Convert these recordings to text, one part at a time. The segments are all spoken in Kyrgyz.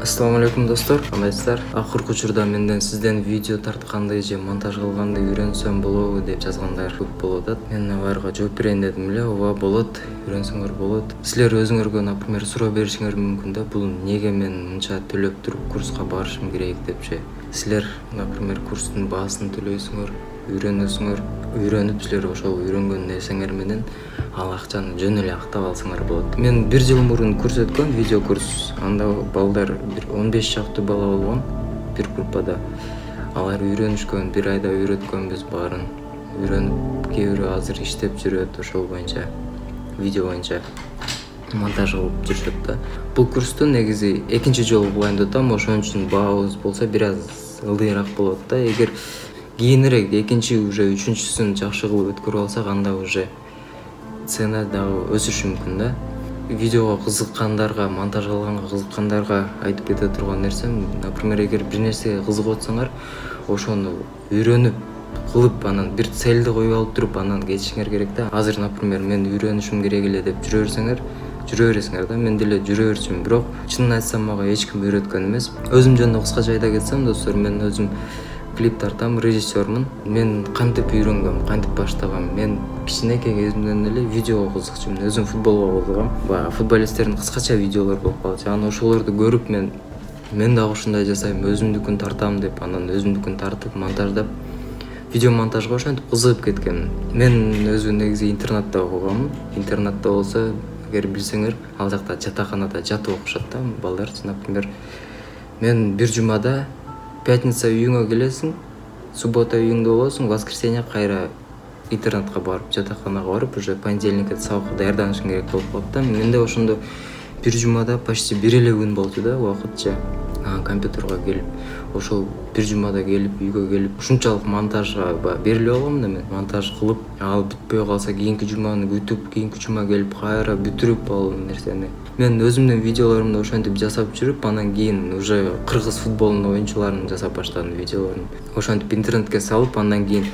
Assalamu alaikum достор, кандайсыздар? Акыркы учурда менден сизден видео тартканды же монтаж кылганды үйрөнсөм болобу деп жазгандар көп болуп атат. Мен аларга жооп берейин дедим эле. Ооба болот, үйрөнсөңөр болот. Силер өзүңөргө, например, суроо беришиңер мүмкүн да, бул эмнеге мен мынча төлөп туруп курска барышым керек депчи. Силер, например, курстун баасын төлөйсүңөр, үйрөнүп силер ошол үйрөнгөн нерсеңер менен ал акчаны жөн эле актап алсаңар болот. Мен 1 жыл мурун курс өткөм, видео курс. Анда балдар 15 чактуу бала болгон бир группада. Алар үйрөнүшкөн, 1 айда үйрөткөнбүз баарын. Үйрөнүп, кээ бирөө азыр иштеп жүрөт ошол боюнча, видео боюнча монтаж кылып жүрүшөт да. Бул курсту негизи экинчи жолу кылайын деп атам, ошон үчүн баабыз болсо бир аз ылдыйраак болот да. Эгер кийинирээк экинчи уже үчүнчүсүн жакшы кылып өткөрүп алсак, анда уже цена дагы өсүшү мүмкүн да. Видеого кызыккандарга, монтаж кылганга кызыккандарга айтып кете турган нерсем, например, эгер бир нерсеге кызыгып атсаңар, ошону үйрөнүп кылып, анан бир целди коюп алып туруп, анан кетишиңер керек да. Азыр, например, мен үйрөнүшүм керек эле деп жүрө бересиңер да. Мен деле жүрө берчүмүн, бирок чынын айтсам мага эч ким үйрөткөн эмес. Өзүм жөнүндө кыскача айта кетсем, достор, мен өзүм клип тартам, режиссермун. Мен кантип үйрөнгөм, кантип баштагам? Мен кичинекей кезимден эле видеого кызыкчумун. Өзүм футболго кызыгам. Баягы футболисттердин кыскача видеолору болуп калчу. Анан ошолорду көрүп мен дагы ушундай жасайм, өзүмдүкүн тартам деп, анан өзүмдүкүн тартып, монтаждап, видео монтажга ошентип кызыгып кеткем. Мен өзүм негизи интернатта окугам. Интернатта болсо, эгер билсеңер, ал жакта жатаканада жатып окушат да балдарчы. Например, мен бир жумада пятница үйүңө келесиң, суббота үйүңдө болосуң, воскресенье кайра интернатка барып, жатаканага барып, уже понедельникке сабакка даярданышың керек болуп калат да. Менде ошондо бир жумада почти бир эле күн болчу да, убакытча компьютерге келип, ошол бир жумада келип, үйгө келип, ушунчалык монтажга берилип алгам да мен. Монтаж кылып, ал бүтпөй калса кийинки жуманы күтүп, кийинки жума келип кайра бүтүрүп ал нерсени. Мен өзүмдүн видеолорумду ошентип жасап жүрүп, анан кийин уже кыргыз футболунун оюнчуларын жасап баштадым видеолорун. Ошентип интернетке салып, андан кийин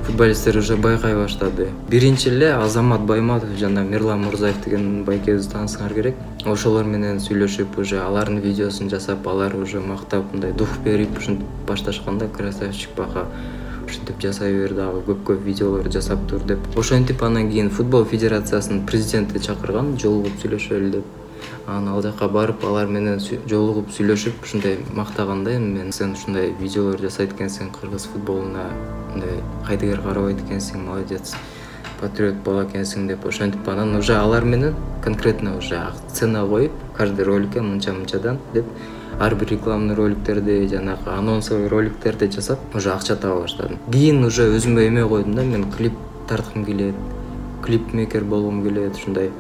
футболисттер уже байкай баштады. Биринчи эле Азамат Байматов жана Мирлан Мурзаев деген байкебизди таанысыңар керек. Ошолор менен сүйлөшүп, уже алардын видеосун жасап, алар уже мактап, мындай дух берип, ушинтип башташканда красавчик бака ушинтип жасай бер, дагы көп видеолор жасап тур деп. Ошентип анан кийин футбол федерациясынын президенти чакырган, жолугуп сүйлөшөлү деп. Анан ал жака барып, алар менен жолугуп сүйлөшүп, ушундай мактагандай, мен сен ушундай видеолор жасайт экенсиң, кыргыз футболуна мындай кайдыгер карабайт экенсиң, молодец, патриот бала экенсиң деп. Ошентип анан уже алар менен конкретно уже цена коюп, каждый роликке мынча-мынчадан деп, ар бир рекламный роликтерди, жанагы анонсовый роликтерди жасап, уже акча таба баштадым. Кийин уже өзүмө эме койдум да, мен клип тарткым келет, клипмейкер болгум келет, ушундай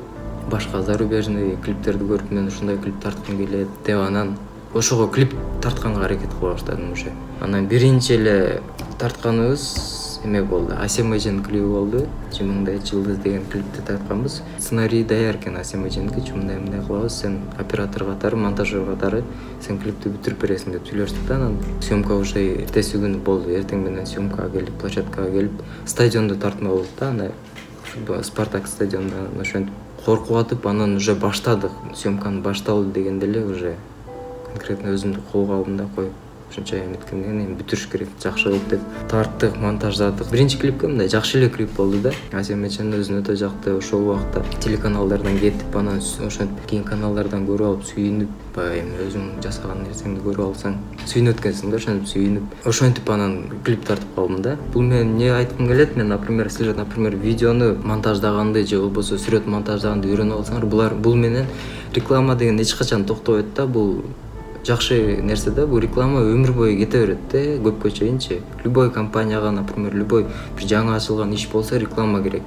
башка зарубежный клиптерди көрүп, мен ушундай клип тарткым келет деп, анан ошого клип тартканга аракет кыла баштадым уже. Анан биринчи эле тартканыбыз эме болду, Асемэжен клиби болду. Чымыңдай жылдыз деген клипти тартканбыз. Сценарий даяр экен Асемэженики, мындай кылабыз, сен оператор катары, монтажер катары сен клипти бүтүрүп бересиң деп сүйлөштүк да. Анан съемка уже эртеси күнү болду. Эртең менен съемкага келип, площадкага келип, стадиондо тартма болду да, анда Спартак стадионунда. Ошентип коркуп атып, анан уже баштадык. Съемканы башталды дегенде эле уже конкретно өзүмдү колго алдым да, коюп ушунча эметкенден кийин бүтүрүш керек, жакшы кылып деп тарттык, монтаждадык. Биринчи клипке мындай жакшы эле клип болду да. Асемэжен өзүн өтө жакты. Ошол убакта телеканалдардан кетип, анан ошентип кийин каналдардан көрүп алып сүйүнүп, баягы эми өзүң жасаган нерсеңди көрүп алсаң сүйүнүп өткөнсүң да, ошентип сүйүнүп. Ошентип анан клип тартып калдым да. Бул мен эмне айткым келет? Мен, например, силер, например, видеону монтаждаганды же болбосо сүрөт монтаждаганды үйрөнүп алсаңар, бул менен реклама деген эч качан токтобойт да. Бул жакшы нерсе да, бул реклама өмүр бою кете берет да, көпкө чейинчи. Любой компанияга, например, любой бир жаңы ачылган иш болсо реклама керек.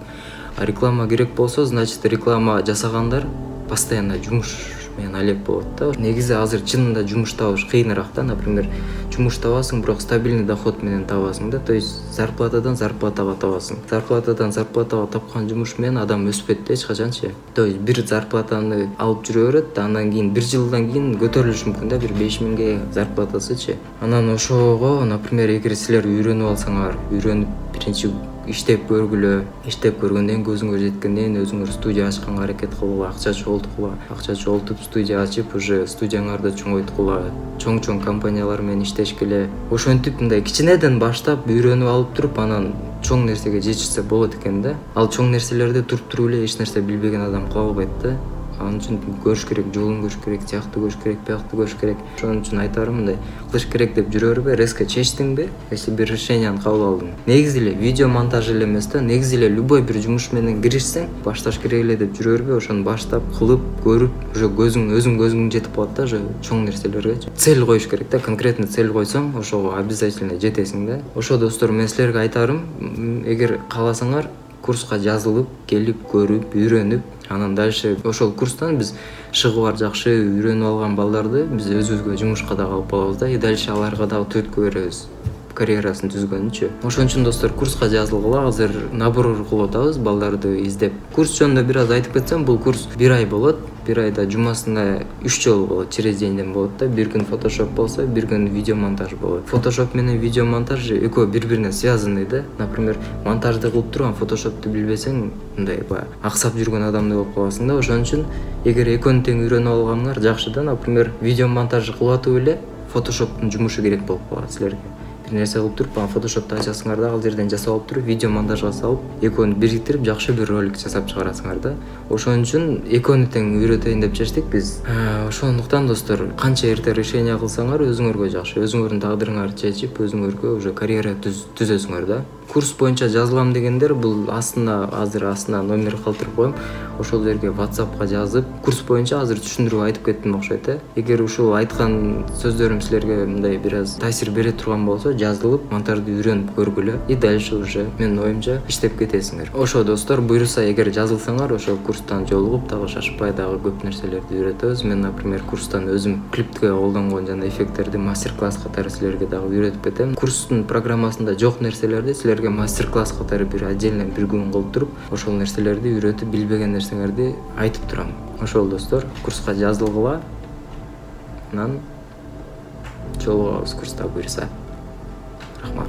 А реклама керек болсо, значит, реклама жасагандар постоянно жумуш менен алек болот да. Негизи азыр чынында жумуш табыш кыйыныраак да. Например, жумуш табасың, бирок стабильный доход менен табасың да. То есть зарплатадан зарплатага табасың. Зарплатадан зарплатага тапкан жумуш менен адам өспөйт да эч качанчы. То есть бир зарплатаны алып жүрө берет, андан кийин бир жылдан кийин көтөрүлүшү мүмкүн да, бир 5000ге зарплатасычы. Анан ошого, например, эгер силер үйрөнүп алсаңар, үйрөнүп биринчи иштеп көргүлө. Иштеп көргөндөн кийин көзүңөр жеткенден кийин өзүңөр студия ачканга аракет кылгыла, акча чогулткула. Акча чогултуп студия ачып, уже студияңарды чоңойткула, чоң компаниялар менен иштешкиле. Ошентип мындай кичинеден баштап үйрөнүп алып туруп, анан чоң нерсеге жетишсе болот экен да. Ал чоң нерселерди туруп эле эч нерсе билбеген адам кыла албайт да. Анын үчүн көрүш керек, жолун көрүш керек, тиякты көрүш керек, биякты көрүш керек. Ошон үчүн айтарым, мындай кылыш керек деп жүрө бербе, резко чечтиңби, если бир решенияны кабыл алдың. Негизи эле видео монтаж эле эмес да, негизи эле любой бир жумуш менен киришсең, башташ керек эле деп жүрө бербе, ошону баштап кылып, көрүп, уже көзүң жетип калат да, уже чоң нерселерге. Цель коюш керек да, конкретно цель койсоң, ошого обязательно жетесиң да. Ошо достор, мен силерге айтарым, эгер кааласаңар, курска жазылып, келип, көрүп, үйрөнүп, анан дальше ошол курстан биз шыгы бар, жакшы үйрөнүп алган балдарды биз өзүбүзгө жумушка дагы алып калабыз да, и дальше аларга дагы түрткү беребиз, карьерасын түзгөнүчү. Ошон үчүн достор, курска жазылгыла. Азыр набор кылып атабыз балдарды издеп. Курс жөнүндө бир аз айтып кетсем, бул курс 1 ай болот. 1 айда жумасына 3 жолу болот, через денден болот да. Бир күн фотошоп болсо, бир күн видео монтаж болот. Фотошоп менен видео монтаж экөө бири-бирине связанный да. Например, монтажды кылып туруп, фотошопту билбесең, мындай баягы аксап жүргөн адамдай болуп каласың да. Ошон үчүн эгер экөөнү тең үйрөнүп алгаңар жакшы да. Например, видео монтажды кылып атып эле фотошоптун жумушу керек болуп калат силерге. Нерсе кылып туруп, фотошопто ачасыңар да, ал жерден жасап алып туруп, видео монтажга салып, экөөнү бириктирип, жакшы бир ролик жасап чыгарасыңар да. Ошон үчүн экөөнү тең үйрөтөйүн деп чечтик биз. Ошондуктан достор, канча эрте решение кылсаңар өзүңөргө жакшы, өзүңөрдүн тагдырыңарды чечип, өзүңөргө уже карьера түзөсүңөр да. Курс боюнча жазылам дегендер, бул азыр номер калтырып коем. Ошол жерге WhatsAppка жазып, курс боюнча азыр түшүндүрүп айтып кеттим окшойт э. Эгер ушул айткан сөздөрүм силерге мындай бир аз таасир бере турган болсо, жазылып, монтажды үйрөнүп көргүлө, и дальше уже менин оюмча иштеп кетесиңер. Ошо достор, буюрса эгер жазылсаңар, ошо курстан жолугуп, дагы шашпай дагы көп нерселерди үйрөтөбүз. Мен, например, курстан өзүм клипке колдонгон жана эффекттерди мастер-класс катары силерге дагы үйрөтүп кетем. Курстун программасында жок нерселерди силерге мастер-класс катары бир отдельно бир күн кылып туруп, ошол нерселерди үйрөтүп, билбеген нерсеңерди айтып турам. Ошол достор, курска жазылгыла. Анан жолугабыз курста буюрса. Рахмат.